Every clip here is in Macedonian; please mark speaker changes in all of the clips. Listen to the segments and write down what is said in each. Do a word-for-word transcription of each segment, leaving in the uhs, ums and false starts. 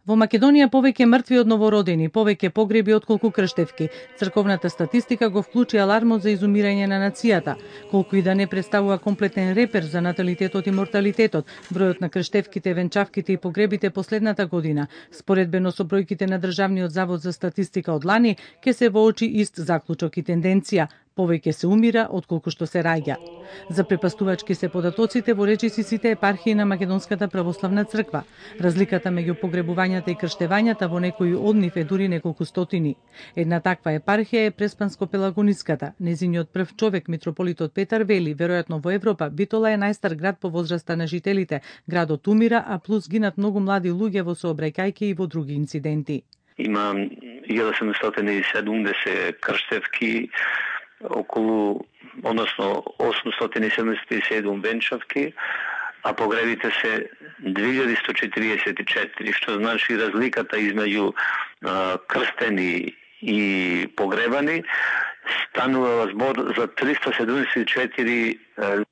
Speaker 1: Во Македонија повеќе мртви од новородени, повеќе погреби отколку крштевки. Црковната статистика го вклучи алармот за изумирање на нацијата. Колку и да не представува комплетен репер за наталитетот и морталитетот, бројот на крштевките, венчавките и погребите последната година, споредбено со бројките на Државниот завод за статистика од лани, ке се воочи ист заклучок и тенденција. Повеќе се умира отколку што се раѓа. За препастувачки се податоците во речиси сите епархии на Македонската православна црква. Разликата меѓу погребувањата и крштевањата во некои од нив е дури неколку стотини. Една таква епархија е Преспанско-Пелагониската. Незиниот прв човек, митрополитот Петар, вели, веројатно во Европа, Битола е најстар град по возраста на жителите. Градот умира, а плюс гинат многу млади луѓе во сообраќајки и во други инциденти.
Speaker 2: Има илјада седумстотини и седумдесет крштевки, околу, односно осумстотини и седумдесет и седум венчавки, а погребите се две илјади сто четиридесет и четири, што значи разликата измеѓу а, крстени и погребани станува збор за триста седумдесет и четири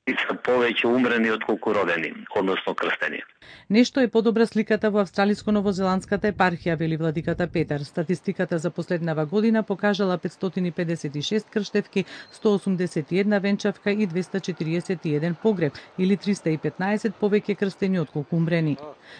Speaker 2: лица повеќе умрени отколку родени, односно крстени.
Speaker 1: Нешто е подобра сликата во австралиско-новозеландската епархија, вели владиката Петар. Статистиката за последнава година покажала петстотини и педесет и шест крштевки, сто осумдесет и една венчавка и двеста четириесет и еден погреб, или триста и петнаесет повеќе крстени отколку умрени.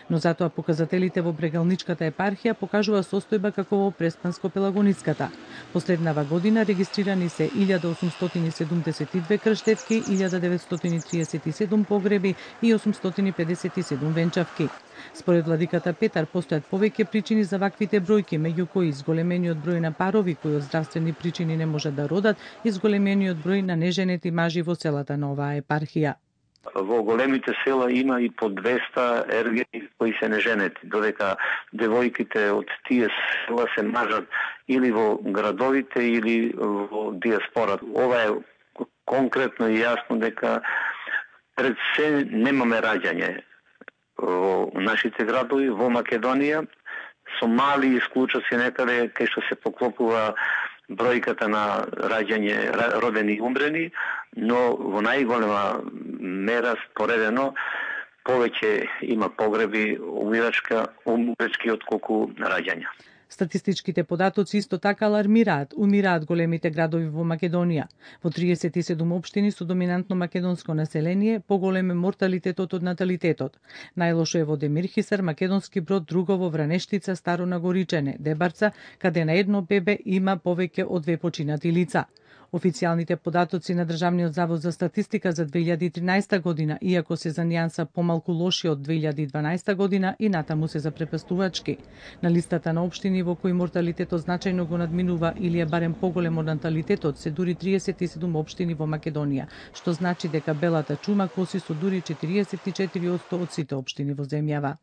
Speaker 1: Но затоа показателите во Брегалничката епархија покажува состојба како во Преспанско-Пелагониската. Последнава година регистрирани се илјада осумстотини и седумдесет и две крштевки, илјада деветстотини и триесет и седум погреби и осумстотини и педесет и седум венчавки. Според владиката Петар, постојат повеќе причини за ваквите бројки, меѓу кои зголемениот број на парови кои од здравствени причини не можат да родат и зголемениот број на неженети мажи во селата на оваа епархија.
Speaker 2: Во големите села има и по двеста ергени кои се неженети, додека девојките од тие села се мажат или во градовите или во диаспората. Ова е конкретно и јасно дека пред се немаме раѓање во нашите градови, во Македонија, со мали исклучоци некаде кај што се поклопува бројката на раѓање родени и умрени, но во најголема мера споредено повеќе има погреби умирачка, умирачки отколку раѓања.
Speaker 1: Статистичките податоци исто така алармираат, умираат големите градови во Македонија. Во триесет и седум општини со доминантно македонско население, поголем е морталитетот од наталитетот. Најлошо е во Демирхисар, Македонски Брод, Другово, Вранештица, Старо Нагоричене, Дебарца, каде на едно бебе има повеќе од две починати лица. Официјалните податоци на Државниот завод за статистика за две илјади и тринаесета година, иако се за нијанса помалку лоши од две илјади и дванаесета година, и натаму се за препастувачки. На листата на општини во кои морталитетот значајно го надминува или е барем поголем од наталитетот се дури триесет и седум општини во Македонија, што значи дека белата чума коси со дури четириесет и четири одсто од сите општини во земјава.